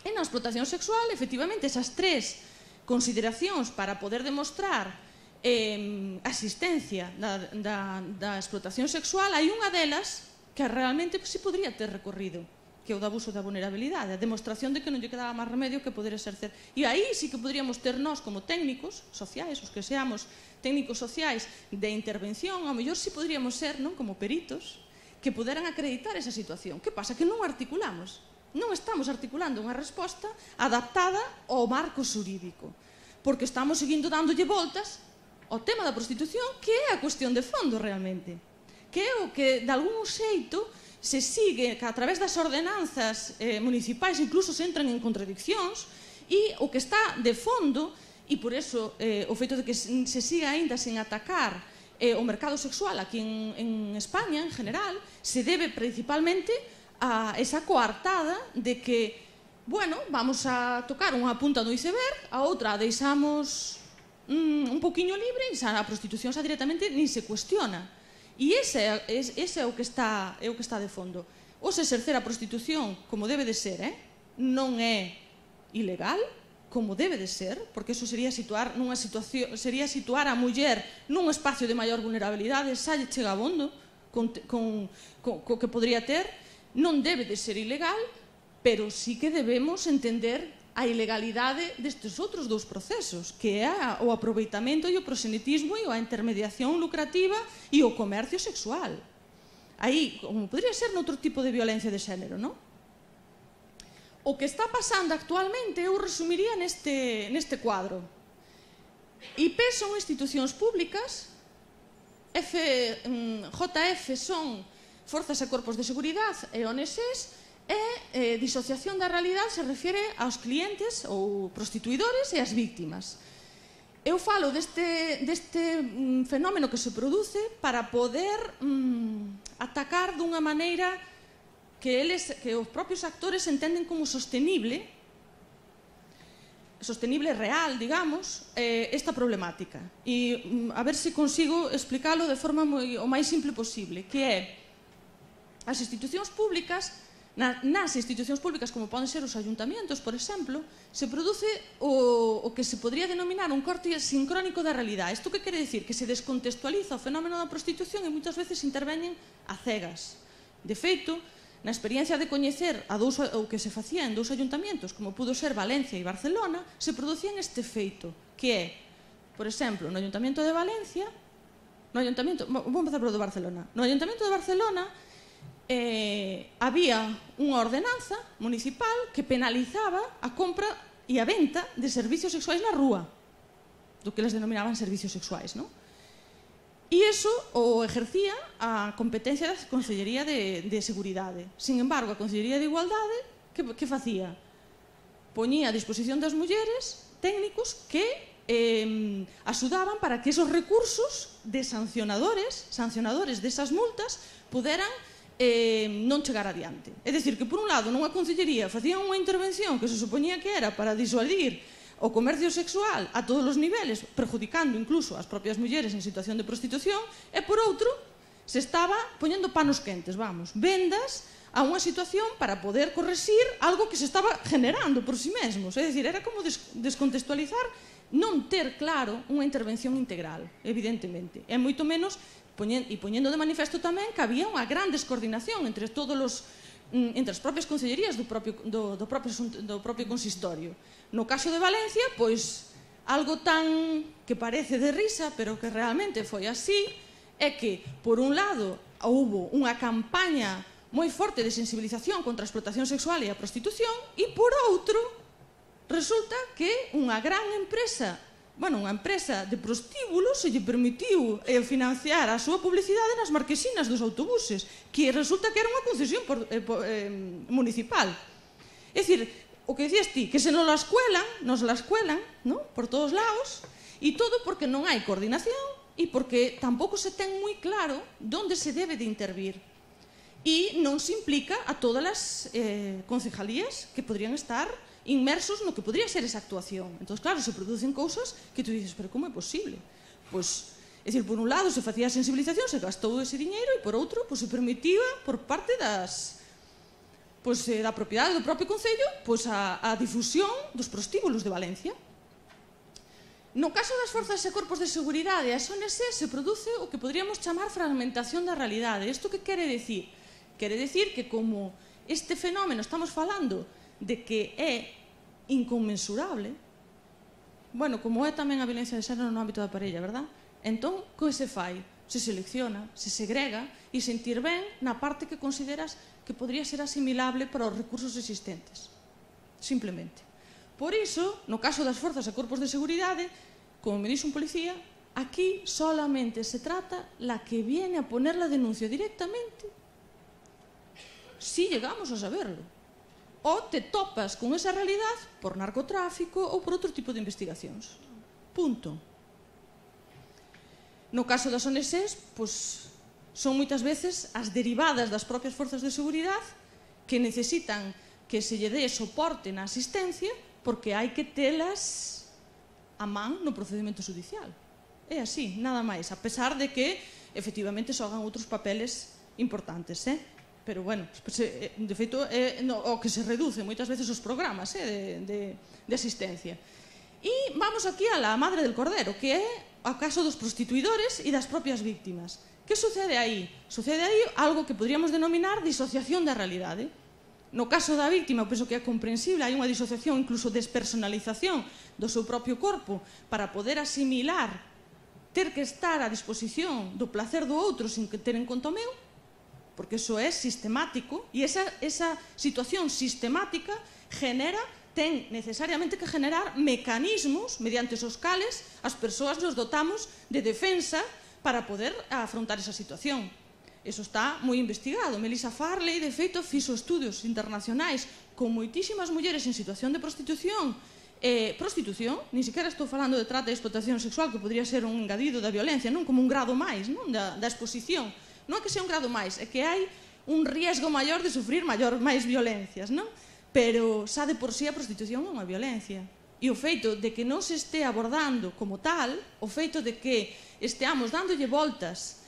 E na explotación sexual, efectivamente, esas tres consideracións para poder demostrar Eh, asistencia da, da, da explotación sexual, hai unha delas que realmente pues, sí podría ter recorrido, que é o do abuso da vulnerabilidade, a demostración de que non lle quedaba máis remedio que poder exercer. E aí sí que poderíamos ter nós como técnicos sociais, os que seamos técnicos sociais de intervención, ao mellor sí poderíamos ser, non, como peritos, que poderan acreditar esa situación. Que pasa? Que non articulamos, non estamos articulando unha resposta adaptada ao marco xurídico, porque estamos seguindo dándolle voltas o tema da prostitución, que é a cuestión de fondo realmente, que é o que de algún xeito se sigue, que a través das ordenanzas eh, municipais incluso se entran en contradiccións, e o que está de fondo, e por eso eh, o feito de que se siga aínda sen atacar eh, o mercado sexual aquí en, en España en general, se debe principalmente a esa coartada de que, bueno, vamos a tocar unha punta do iceberg, a outra a deixamos un poquinho libre e a prostitución xa directamente nin se cuestiona. E ese, ese é o que está é o que está de fondo. O se exercer a prostitución como debe de ser, eh? non é ilegal, como debe de ser, porque eso sería situar nunha situación, sería situar a muller nun espacio de maior vulnerabilidade, xa lle chega abondo con, con, con, con que podría ter, non debe de ser ilegal, pero sí que debemos entender a ilegalidade destes outros dous procesos, que é o aproveitamento e o proselitismo e a intermediación lucrativa e o comercio sexual. Aí, como podría ser noutro tipo de violencia de xénero, non? O que está pasando actualmente eu resumiría neste, neste cuadro. I P son institucións públicas, F, J F son forzas e corpos de seguridade e O N Gs, e eh, disociación da realidade se refire aos clientes ou prostituidores e ás víctimas. Eu falo deste, deste mm, fenómeno que se produce para poder mm, atacar dunha maneira que, eles, que os propios actores entenden como sostenible, sostenible real, digamos, eh, esta problemática. E mm, a ver se consigo explicarlo de forma moi, o máis simple posible, que é as institucións públicas. Nas institucións públicas, como poden ser os ayuntamientos, por exemplo, se produce o, o que se podría denominar un corte sincrónico da realidade. Isto que quere dicir? Que se descontextualiza o fenómeno da prostitución e moitas veces interveñen a cegas. De feito, na experiencia de coñecer a dous, o que se facía en dous ayuntamientos, como pudo ser Valencia e Barcelona, se producían este feito, que é, por exemplo, no Ayuntamiento de Valencia, no Ayuntamiento, vou empezar polo de Barcelona, no Ayuntamiento de Barcelona, Eh, había unha ordenanza municipal que penalizaba a compra e a venta de servicios sexuais na rúa, do que les denominaban servicios sexuais, non? E iso o ejercía a competencia da Consellería de, de Seguridade. Sin embargo, a Consellería de Igualdade, que, que facía? Poñía a disposición das mulleres técnicos que eh, axudaban para que esos recursos de sancionadores, sancionadores desas multas, puderan Eh, non chegar adiante. É dicir, que por un lado, nunha concellería facían unha intervención que se supoñía que era para disuadir o comercio sexual a todos os niveles, perjudicando incluso as propias mulleres en situación de prostitución, e por outro, se estaba poñendo panos quentes, vamos, vendas a unha situación para poder correxir algo que se estaba generando por si mesmos. É dicir, era como des descontextualizar, non ter claro unha intervención integral, evidentemente. E moito menos e poñendo de manifesto tamén que había unha gran descoordinación entre todos os entre as propias concellerías do propio, do, do, propio, do propio consistorio. No caso de Valencia, pois, algo tan que parece de risa, pero que realmente foi así, é que, por un lado, houbo unha campaña moi forte de sensibilización contra a explotación sexual e a prostitución, e, por outro, resulta que unha gran empresa Bueno, unha empresa de prostíbulos se lle permitiu eh, financiar a súa publicidade nas marquesinas dos autobuses, que resulta que era unha concesión por, eh, por, eh, municipal. É dicir, o que dicías ti, que se nos la escuelan, nos la escuelan, ¿no? Por todos lados, e todo porque non hai coordinación e porque tampouco se ten moi claro onde se debe de intervir. E non se implica a todas as eh, concejalías que podrían estar inmersos no que podría ser esa actuación. Entón, claro, se producen cousas que tú dices, pero como é posible? Pois, é dicir, por un lado se facía a sensibilización, se gastou ese diñeiro, e por outro, pois, se permitía por parte das, pois, eh, da propiedade do propio Concello, pois, a, a difusión dos prostíbulos de Valencia. No caso das forzas e corpos de seguridade, as O N Gs se produce o que podríamos chamar fragmentación da realidade. Isto que quere decir? Quere decir que como este fenómeno estamos falando de que é inconmensurable, bueno, como é tamén a violencia de xénero no ámbito da parella, verdad? Entón, que se fai? Se selecciona, se segrega e se intervén na parte que consideras que podría ser asimilable para os recursos existentes. Simplemente. Por iso, no caso das forzas e corpos de seguridade, como me dixo un policía, aquí solamente se trata la que viene a poner la denuncia directamente, si llegamos a saberlo. O te topas con esa realidade por narcotráfico ou por outro tipo de investigacións. Punto. No caso das O N Gs, pois, son moitas veces as derivadas das propias forzas de seguridade que necesitan que se lle dé soporte na asistencia porque hai que telas a man no procedimento judicial. É así, nada máis, a pesar de que efectivamente xogan outros papeles importantes, eh? Pero, bueno, de feito, é o que se reduce moitas veces os programas de, de, de asistencia. E vamos aquí a la madre del cordero, que é o caso dos prostituidores e das propias víctimas. Que sucede aí? Sucede aí algo que podríamos denominar disociación da realidade. No caso da víctima, penso que é comprensible, hai unha disociación, incluso despersonalización do seu propio corpo para poder asimilar, ter que estar a disposición do placer do outro sin que ter en conta o meu, porque iso é sistemático, e esa, esa situación sistemática genera, ten necesariamente que generar mecanismos mediante os cales as persoas nos dotamos de defensa para poder afrontar esa situación. Eso está moi investigado. Melissa Farley, de feito, fixo estudios internacionais con moitísimas mulleres en situación de prostitución. Eh, prostitución, ni sequera estou falando de trata e explotación sexual, que podría ser un engadido da violencia, non como un grado máis, non? Da, da exposición. Non é que sea un grado máis, é que hai un riesgo maior de sufrir maior, máis violencias, non? Pero xa de por sí a prostitución é unha violencia. E o feito de que non se este abordando como tal, o feito de que esteamos dándolle voltas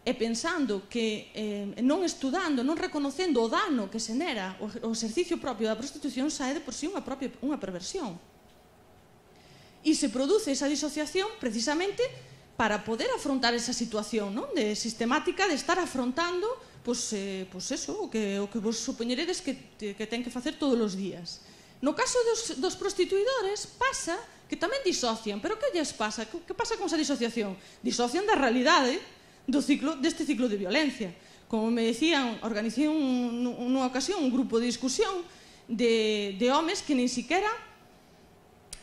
e pensando que eh, non estudando, non reconocendo o dano que xenera o, o exercicio propio da prostitución, xa é de por sí unha, propia, unha perversión. E se produce esa disociación precisamente para poder afrontar esa situación, non? De sistemática de estar afrontando pois, eh, pois eso, o que, o que vos supoñeredes que, que ten que facer todos os días. No caso dos, dos prostituidores pasa que tamén disocian, pero que lles pasa? Que, que pasa con esa disociación? Disocian da realidade do ciclo, deste ciclo de violencia. Como me decían, organicé un, nunha ocasión un grupo de discusión de, de homes que nin siquera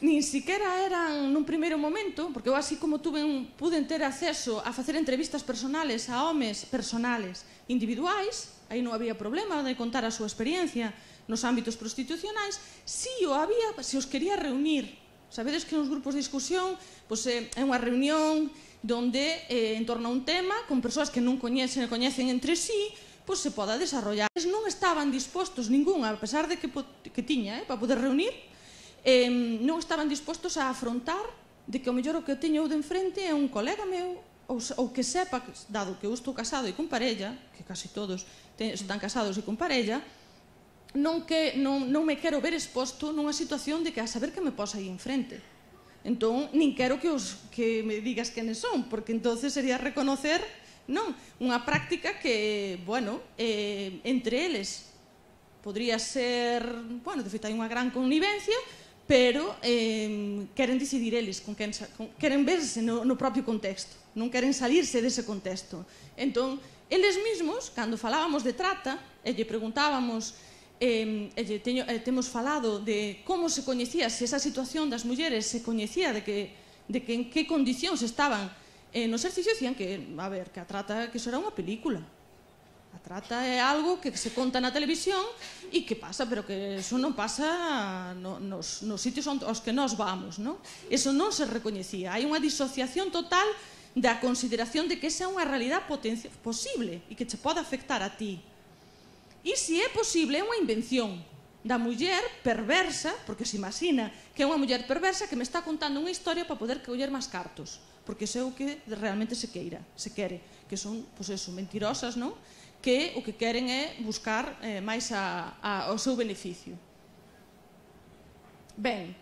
nin siquera eran nun primeiro momento, porque eu así como tuve un, pude ter acceso a facer entrevistas personales a homes personales individuais, aí non había problema de contar a súa experiencia nos ámbitos prostitucionais, si o había, se os quería reunir. Sabedes que nos grupos de discusión pois, é unha reunión donde eh, en torno a un tema, con persoas que non coñecen e coñecen entre sí, pois se poda desarrollar. Non estaban dispostos ningún, a pesar de que, que tiña, eh, para poder reunir, eh, non estaban dispostos a afrontar de que o mellor o que teño eu de enfrente é un colega meu, ou, ou que sepa, dado que eu estou casado e con parella, que casi todos ten, están casados e con parella, non, que, non, non me quero ver exposto nunha situación de que a saber que me posa aí enfrente. Entón, nin quero que, os, que me digas quenes son, porque entonces sería reconocer non unha práctica que, bueno, eh, entre eles podría ser, bueno, de feito hai unha gran connivencia, pero eh, queren decidir eles con quen, con, queren verse no, no propio contexto, non queren salirse dese contexto. Entón, eles mesmos, cando falábamos de trata e lle preguntábamos Eh, eh, teño, eh, temos falado de como se coñecía, se esa situación das mulleres se coñecía, de que, de que en que condicións estaban eh, no exercicio, dicían que, a ver, que a trata, que eso era unha película. A trata é algo que se conta na televisión e que pasa, pero que eso non pasa no, nos, nos sitios aos que nós vamos, non? Eso non se recoñecía. Hai unha disociación total da consideración de que esa é unha realidade posible e que che pode afectar a ti. E se é posible, é unha invención da muller perversa, porque se imagina que é unha muller perversa que me está contando unha historia para poder coller máis cartos, porque iso é o que realmente se queira, se quere, que son, pois eso, mentirosas, non? Que o que queren é buscar eh, máis a, a, o seu beneficio. Ben,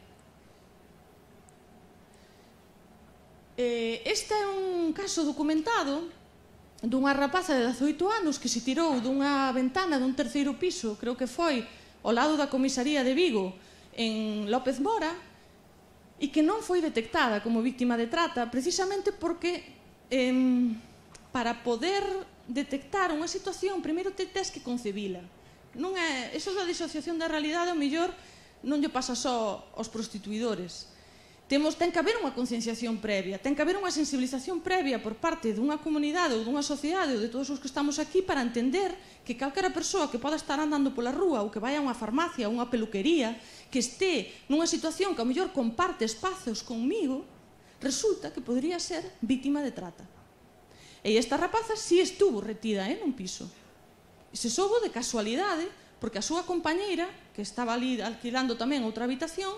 eh, este é un caso documentado dunha rapaza de dezaoito anos que se tirou dunha ventana dun terceiro piso, creo que foi ao lado da comisaría de Vigo, en López Mora, e que non foi detectada como víctima de trata, precisamente porque eh, para poder detectar unha situación, primeiro te tes que concebila. Non é, eso da disociación da realidade, ao mellor non lle pasa só aos prostituidores. Temos, ten que haber unha concienciación previa, ten que haber unha sensibilización previa por parte dunha comunidade ou dunha sociedade ou de todos os que estamos aquí para entender que calquera persoa que poda estar andando pola rúa ou que vai a unha farmacia ou unha peluquería, que este nunha situación que ao mellor comparte espazos conmigo, resulta que podría ser vítima de trata. E esta rapaza si estuvo retida eh, nun piso. E se soubo de casualidade, porque a súa compañeira, que estaba ali alquilando tamén outra habitación,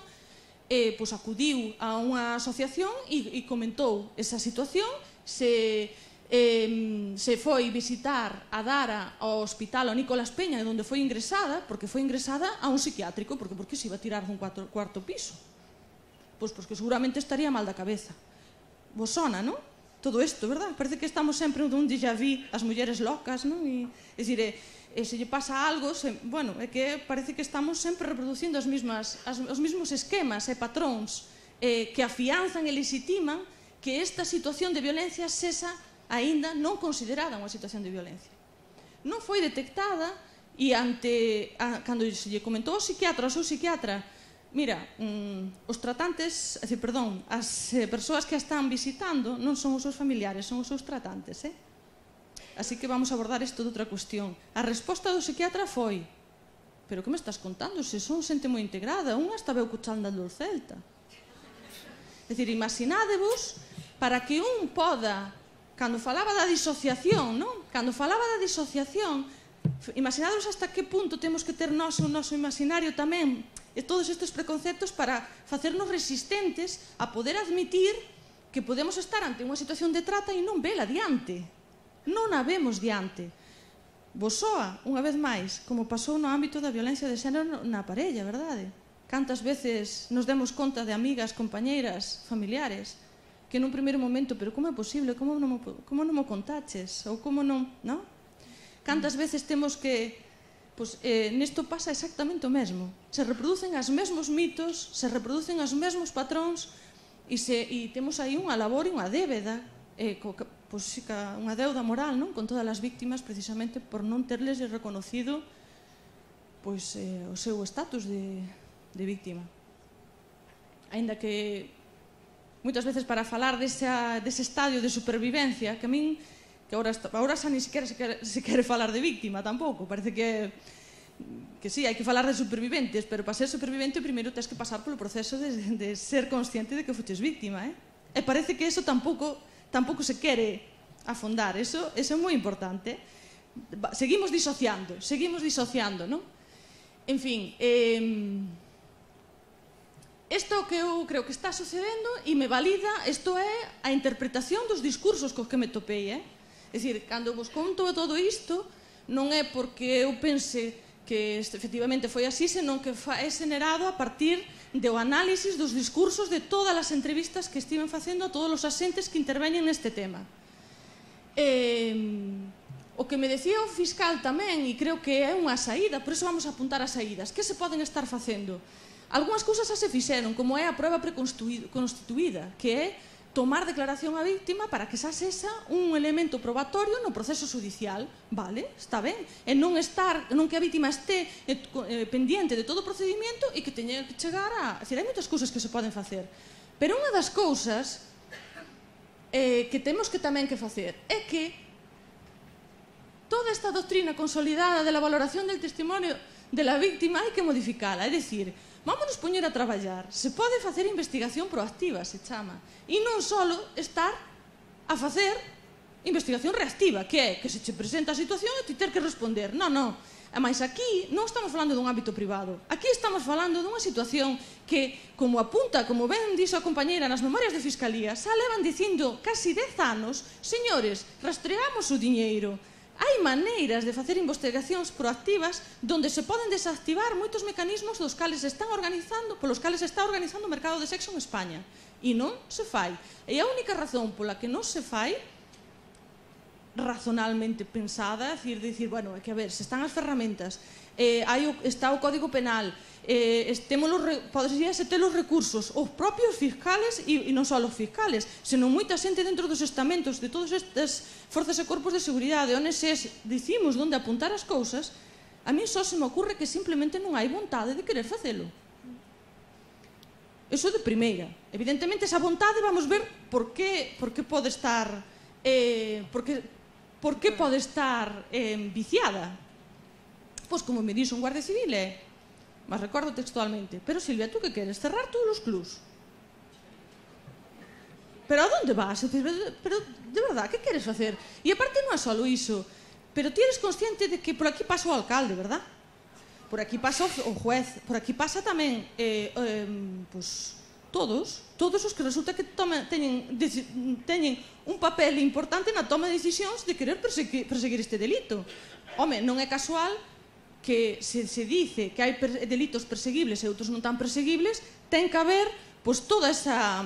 eh, pois acudiu a unha asociación e, e comentou esa situación, se, eh, se foi visitar a Dara ao hospital ao Nicolás Peña, onde foi ingresada, porque foi ingresada a un psiquiátrico, porque por que se iba a tirar dun cuarto, cuarto piso? Pois porque seguramente estaría mal da cabeza. Vos sona, non? Todo isto, verdad? Parece que estamos sempre dun déjà vu, as mulleres locas, non? E, é dicir, eh, e se lle pasa algo, se, bueno, é que parece que estamos sempre reproducindo as mismas, as, os mesmos esquemas e patróns eh, que afianzan e legitiman que esta situación de violencia sexa aínda non considerada unha situación de violencia. Non foi detectada E ante, a, cando se lle comentou ao psiquiatra, ao seu psiquiatra, mira, mm, os tratantes, é dicir, perdón, as eh, persoas que a están visitando non son os seus familiares, son os seus tratantes, eh? Así que vamos a abordar isto de outra cuestión. A resposta do psiquiatra foi: pero que me estás contando? Se son xente moi integrada, unha está veu cuchando do Celta. É dicir, imaginádevos para que un poda, cando falaba da disociación, non? Cando falaba da disociación, imaginádevos hasta que punto temos que ter nós o noso imaginario tamén, e todos estes preconceptos para facernos resistentes a poder admitir que podemos estar ante unha situación de trata e non vela diante. Non a vemos diante. Vos soa, unha vez máis, como pasou no ámbito da violencia de xénero na parella, verdade? Cantas veces nos demos conta de amigas, compañeiras, familiares, que nun primeiro momento, pero como é posible, como non, como non mo contaches, ou como non, non? Cantas veces temos que, pois, eh, nesto pasa exactamente o mesmo. Se reproducen os mesmos mitos, se reproducen os mesmos patróns, e, se, e temos aí unha labor e unha débeda, eh, co, pois, unha deuda moral, non? Con todas as víctimas, precisamente por non terles reconocido pois, eh, o seu estatus de, de víctima. Aínda que moitas veces para falar desa, dese estadio de supervivencia, que a min, que agora, agora xa ni sequera se quere, se quere falar de víctima tampouco, parece que que sí, hai que falar de superviventes, pero para ser supervivente primeiro tens que pasar polo proceso de, de ser consciente de que fuches víctima, eh? E parece que eso tampouco tampouco se quere afondar, eso, eso é moi importante. Seguimos disociando, seguimos disociando, non? En fin, eh, isto que eu creo que está sucedendo e me valida, isto é a interpretación dos discursos cos que me topei, eh? É dicir, cando vos conto todo isto, non é porque eu pense que efectivamente foi así, senón que é generado a partir do análisis dos discursos de todas as entrevistas que estiven facendo a todos os asentes que interveñen neste tema. Eh, o que me decía o fiscal tamén, e creo que é unha saída, por iso vamos a apuntar as saídas, que se poden estar facendo? Algúnas cousas xa se fixeron, como é a prueba preconstituída, que é tomar declaración á víctima para que xa sexa un elemento probatorio no proceso judicial, vale, está ben, e non estar, non que a vítima este eh, pendiente de todo o procedimento e que teña que chegar a... É dicir, hai moitas cousas que se poden facer, pero unha das cousas eh, que temos que tamén que facer é que toda esta doctrina consolidada de la valoración del testimonio de la víctima hai que modificala, é dicir, vámonos poñer a traballar. Se pode facer investigación proactiva, se chama. E non só estar a facer investigación reactiva, que é que se che presenta a situación e ti ter que responder. Non, non. Mas aquí non estamos falando dun ámbito privado. Aquí estamos falando dunha situación que, como apunta, como ben dixo a compañeira nas memorias de Fiscalía, xa levan dicindo casi dez anos, señores, rastreamos o diñeiro. Hai maneiras de facer investigacións proactivas donde se poden desactivar moitos mecanismos dos cales están organizando, polos cales está organizando o mercado de sexo en España. E non se fai. E a única razón pola que non se fai, razonalmente pensada, é dicir, dicir, bueno, é que a ver, se están as ferramentas, eh, hai o, está o Código Penal, eh, podría ser ter os recursos, os propios fiscales, e, e non só os fiscales, senón moita xente dentro dos estamentos de todas estas forzas e corpos de seguridade, onde se dicimos onde apuntar as cousas, a mí só se me ocurre que simplemente non hai vontade de querer facelo. Eso de primeira. Evidentemente, esa vontade vamos ver por que, por que pode estar eh, por que, por que pode estar eh, viciada. Pois como me dixo un guardia civil é, mas recordo textualmente, pero Silvia, tú que queres? Cerrar todos os clubs? Pero a onde vas? Pero, de verdad, que queres facer? E aparte non é só iso, pero ti eres consciente de que por aquí pasa o alcalde, verdad? Por aquí pasa o juez, por aquí pasa tamén eh, eh, pues, todos, todos os que resulta que toma, teñen, de, teñen un papel importante na toma de decisións de querer perseguir, perseguir este delito. Home, non é casual que se, se dice que hai per, delitos perseguibles e outros non tan perseguibles, ten que haber pues, toda esa...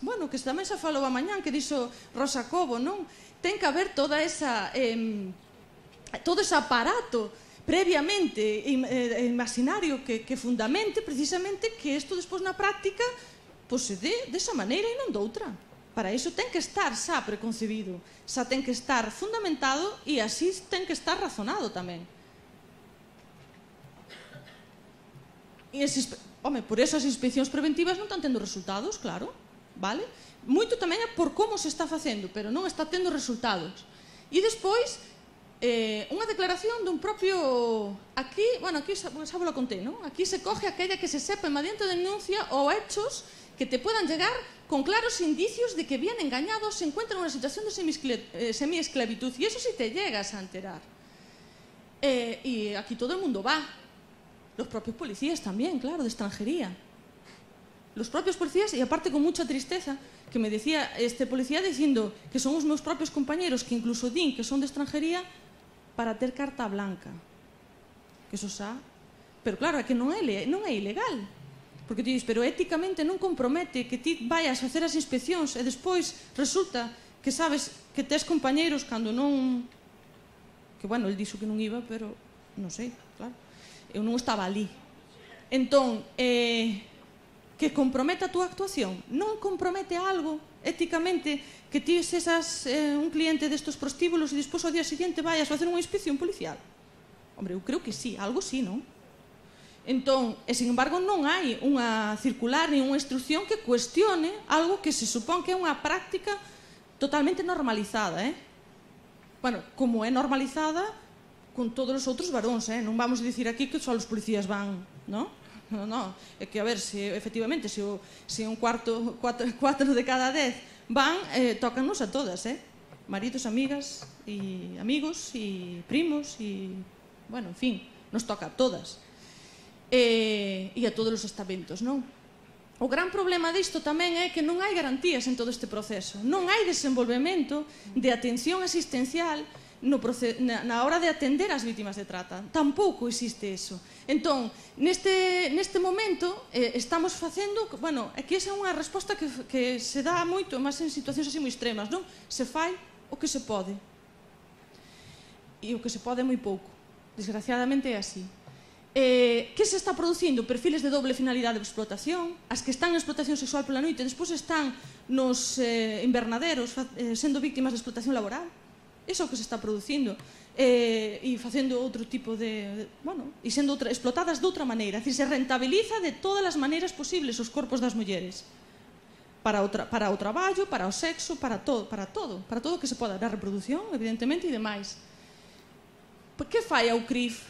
Bueno, que tamén se falou a mañán, que dixo Rosa Cobo, non? Ten que haber toda esa... Eh, todo ese aparato previamente eh, imaginario que, que fundamente precisamente que isto despois na práctica pues, se dé desa maneira e non doutra. Para iso ten que estar xa preconcebido, xa ten que estar fundamentado e así ten que estar razonado tamén. Home, por esas inspeccións preventivas non están tendo resultados, claro, vale? Moito tamén é por como se está facendo, pero non está tendo resultados. E despois, eh, unha declaración dun propio... Aquí, bueno, aquí xa vos la conté, non? Aquí se coge aquella que se sepa mediante denuncia ou hechos que te puedan llegar con claros indicios de que bien engañados se encuentran en una situación de semi-esclavitud. Y eso sí te llegas a enterar. Eh, y aquí todo el mundo va. Los propios policías también, claro, de extranjería. Los propios policías, y aparte con mucha tristeza, que me decía este policía diciendo que son os meus propios compañeros que incluso din que son de extranjería para ter carta blanca. Que eso xa... Pero claro, é que non é, non é ilegal. Porque ti dis, pero éticamente non compromete que ti vayas a facer as inspeccións e despois resulta que sabes que tes compañeiros cando non... Que, bueno, el dixo que non iba, pero non sei, claro. Eu non estaba ali. Entón, eh, que comprometa a túa actuación. Non compromete algo éticamente que ti sesas eh, un cliente destos prostíbulos e despois ao día seguinte vayas a facer unha inspección policial. Hombre, eu creo que sí, algo sí, non? Entón, e sin embargo non hai unha circular ni unha instrucción que cuestione algo que se supón que é unha práctica totalmente normalizada, eh? Bueno, como é normalizada con todos os outros varóns, eh? Non vamos a dicir aquí que só os policías van, non? Non, non, é que a ver, se efectivamente, se, o, se un cuarto, cuatro, cuatro de cada dez van, eh, tócanos a todas, eh? Maridos, amigas, e amigos, e primos, e, bueno, en fin, nos toca a todas. E, e a todos os estamentos, non? O gran problema disto tamén é que non hai garantías en todo este proceso. Non hai desenvolvemento de atención asistencial no proce na, na hora de atender as vítimas de trata. Tampouco existe eso. Entón, neste, neste momento eh, estamos facendo... Bueno, aquí esa é unha resposta que, que se dá moito, máis en situacións así moi extremas, non? Se fai o que se pode. E o que se pode é moi pouco. Desgraciadamente é así. Eh, que se está producindo? Perfiles de doble finalidade de explotación, as que están en explotación sexual pola noite, despois están nos eh, invernaderos eh, sendo víctimas de explotación laboral. Iso é o que se está producindo. Eh, e facendo outro tipo de... de bueno, e sendo outra, explotadas de outra maneira. É dicir, se rentabiliza de todas as maneiras posibles os corpos das mulleres. Para o, tra para o traballo, para o sexo, para todo, para todo, para todo o que se poda, da reproducción, evidentemente, e demais. Por que fai a U C R I F?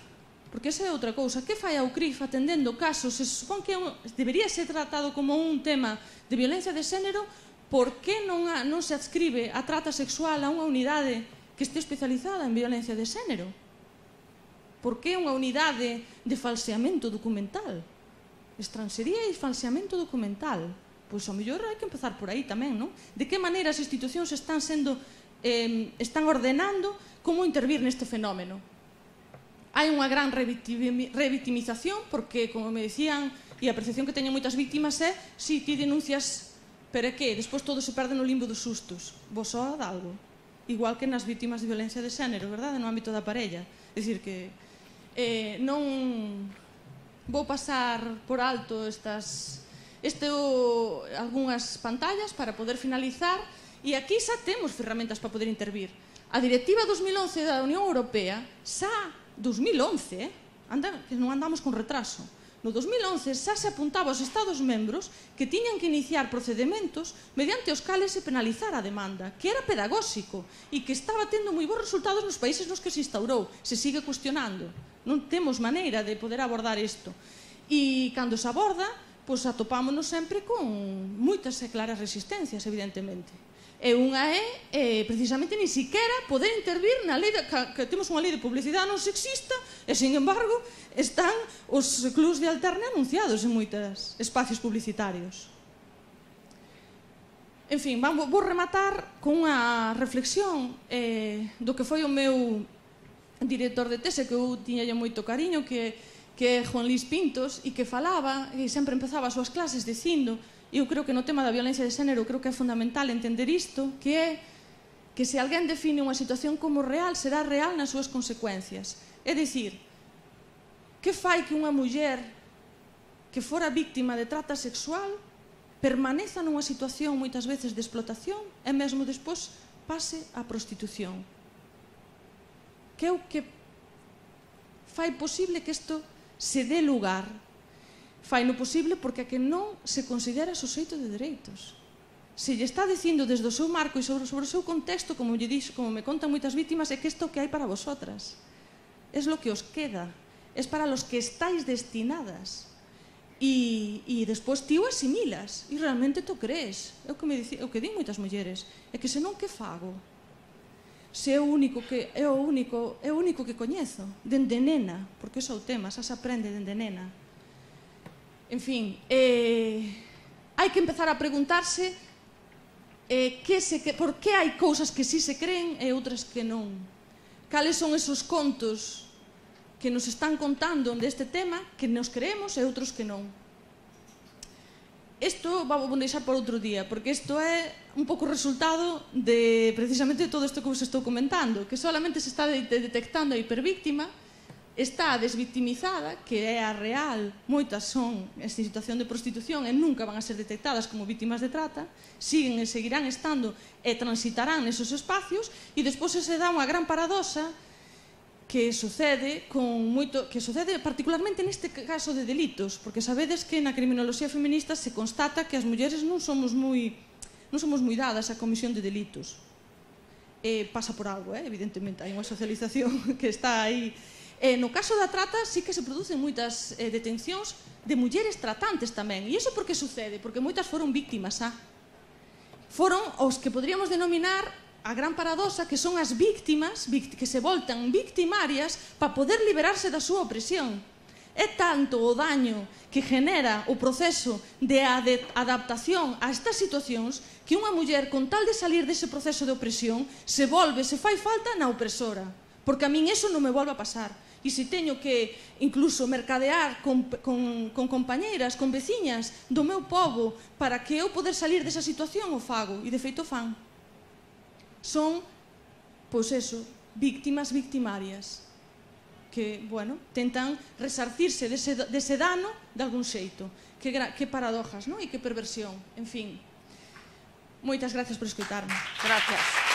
Porque esa é outra cousa. Que fai a U C R I F atendendo casos? Se supón que un, debería ser tratado como un tema de violencia de xénero. Por que non, a, non se adscribe a trata sexual a unha unidade que este especializada en violencia de xénero? Por que unha unidade de falseamento documental? Estranxería e falseamento documental. Pois ao mellor hai que empezar por aí tamén, non? De que maneira as institucións están sendo eh, están ordenando como intervir neste fenómeno? Hai unha gran revictimización porque, como me decían, e a percepción que teñen moitas víctimas é si ti denuncias, pero é que despois todo se perde no limbo dos sustos. Vos soa de algo. Igual que nas víctimas de violencia de xénero, verdade? No ámbito da parella. É dicir que eh, non vou pasar por alto estas este o, algunhas pantallas para poder finalizar, e aquí xa temos ferramentas para poder intervir. A Directiva dos mil once da Unión Europea xa dos mil once, eh? Anda, que non andamos con retraso. No dos mil once xa se apuntaba aos Estados membros que tiñan que iniciar procedementos mediante os cales se penalizar a demanda, que era pedagóxico e que estaba tendo moi bons resultados nos países nos que se instaurou. Se sigue cuestionando. Non temos maneira de poder abordar isto. E cando se aborda, pois atopámonos sempre con moitas e claras resistencias, evidentemente. E unha é, eh, precisamente, ni siquiera poder intervir na lei de, que, que temos unha lei de publicidade non sexista e, sin embargo, están os clubs de alterne anunciados en moitos espacios publicitarios. En fin, vamos, vou rematar con unha reflexión eh, do que foi o meu director de tese, que eu tiñalle moito cariño, que, que é Juan Luis Pintos, e que falaba, e sempre empezaba as súas clases dicindo... Eu creo que no tema da violencia de xénero creo que é fundamental entender isto, que é que se alguén define unha situación como real, será real nas súas consecuencias. É dicir, que fai que unha muller que fora víctima de trata sexual permaneza nunha situación moitas veces de explotación e mesmo despois pase á prostitución? Que é o que fai posible que isto se dé lugar? fai no posible porque a que non se considera suxeito de dereitos. Se lle está dicindo desde o seu marco e sobre, sobre o seu contexto, como, lle dixo, como me contan moitas vítimas, é que isto que hai para vosotras. Es lo que os queda. Es para los que estáis destinadas. E, e despois ti o asimilas e realmente te o crees. É o que, me dici, o que din moitas mulleres. É que senón que fago? Se é o único que é o único, é o único que coñezo, dende nena, porque ese é o tema, xa se aprende dende nena. En fin, eh, hai que empezar a preguntarse eh, que se, que, por que hai cousas que sí se creen e outras que non. Cales son esos contos que nos están contando deste tema que nos creemos e outros que non. Isto vamos deixar por outro día, porque isto é un pouco resultado de precisamente todo isto que vos estou comentando, que solamente se está detectando a hipervíctima, está desvictimizada, que é a real, moitas son en situación de prostitución e nunca van a ser detectadas como vítimas de trata, siguen e seguirán estando e transitarán nesos espacios, e despois se dá unha gran paradoxa que sucede con moito, que sucede particularmente neste caso de delitos, porque sabedes que na criminoloxía feminista se constata que as mulleres non somos moi non somos moi dadas á comisión de delitos. Eh, pasa por algo, eh? Evidentemente, hai unha socialización que está aí. Eh, no caso da trata sí que se producen moitas eh, detencións de mulleres tratantes tamén. E iso por que sucede? Porque moitas foron víctimas, ah? Foron os que podríamos denominar a gran paradoxa, que son as víctimas que se voltan victimarias para poder liberarse da súa opresión. É tanto o daño que genera o proceso de adaptación a estas situacións que unha muller, con tal de salir dese proceso de opresión, se volve, se fai falta na opresora. Porque a min eso non me volve a pasar. E se teño que incluso mercadear con, con, con compañeiras, con veciñas do meu pobo para que eu poder salir desa situación, o fago. E de feito fan. Son, pois eso, víctimas victimarias que, bueno, tentan resarcirse dese, dese dano de algún xeito. Que, que paradojas, non? E que perversión. En fin, moitas gracias por escoitarme. Gracias.